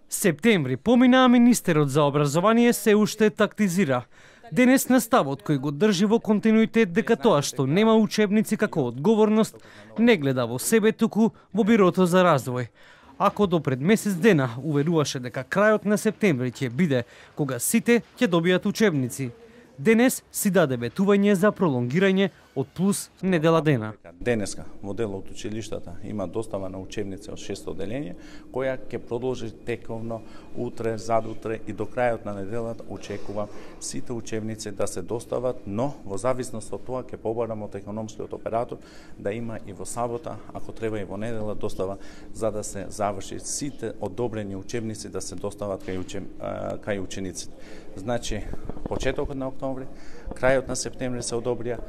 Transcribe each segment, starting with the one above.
Септември помина, а министерот за образование се уште тактизира. Денес наставот кој го држи во континуитет дека тоа што нема учебници како одговорност, не гледа во себе, туку во Бирото за развој. Ако до пред месец дена уверуваше дека крајот на септември ќе биде кога сите ќе добијат учебници, денес си даде ветување за пролонгирање од плюс недела дена. Денеска во дел од училиштата има достава на учебници од 6 оделение, која ќе продолжи тековно утре, задутре и до крајот на неделата очекувам сите учебници да се достават, но во зависност од тоа ќе побарам од економскиот оператор да има и во сабота, ако треба и во недела достава, за да се заврши сите одобрени учебници да се достават кај учениците. Значи, почетокот на октомври, крајот на септември се одобрија,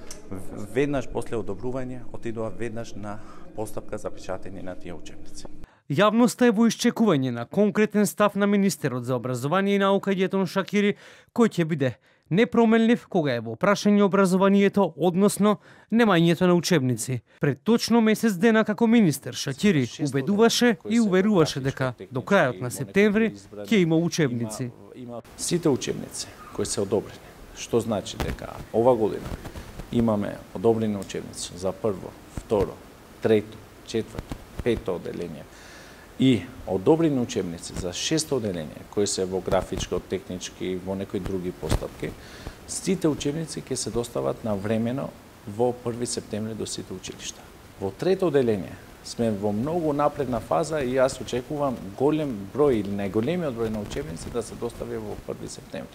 веднаш после одобрување отидува веднаш на постапка за печатење на тие учебници. Јавноста е во исчекување на конкретен став на министерот за образование и наука Ѓетон Шакири, кој ќе биде непромелнив кога е во прашање образованието, односно немањето на учебници. Пред точно месец дена како министер Шакири убедуваше и уверуваше дека до крајот на септември ќе има учебници. Сите учебници кои се одобрени, што значи дека ова година имаме одобрени учебници за прво, второ, трето, четврто, пето оделение и одобрени учебници за шесто оделение, кои се во графичко, технички, во некои други постапки, сите учебници ќе се достават на времено во 1 септември до сите училишта. Во трето оделение сме во многу напредна фаза и јас очекувам голем број или најголемиот број на учебници да се достави во 1 септември.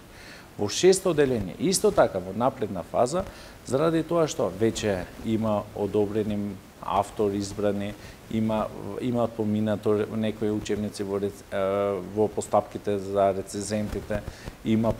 Во шесто оделение, исто така во напредна фаза, заради тоа што веќе има одобрени автор избрани, има поминато некои учебници во постапките за рецензентите, има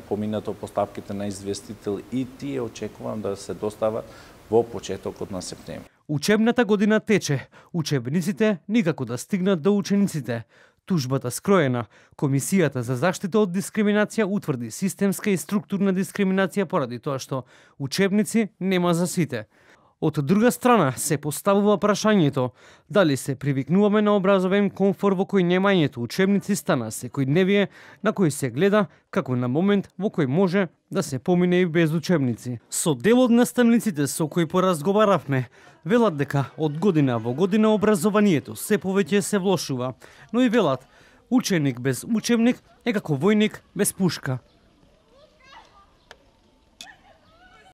поминато постапките на известител и тие очекувам да се достават во почетокот на септември. Учебната година тече, учебниците никако да стигнат до учениците. Тужбата скроена, Комисијата за заштита од дискриминација утврди системска и структурна дискриминација поради тоа што учебници нема за сите. Од друга страна се поставува прашањето дали се привикнуваме на образовен комфор во кој немањето учебници стана секојдневие на кој се гледа како на момент во кој може да се помине и без учебници. Со дел од наставниците со кои поразговаравме, велат дека од година во година образованието се повеќе се влошува, но и велат ученик без учебник е како војник без пушка.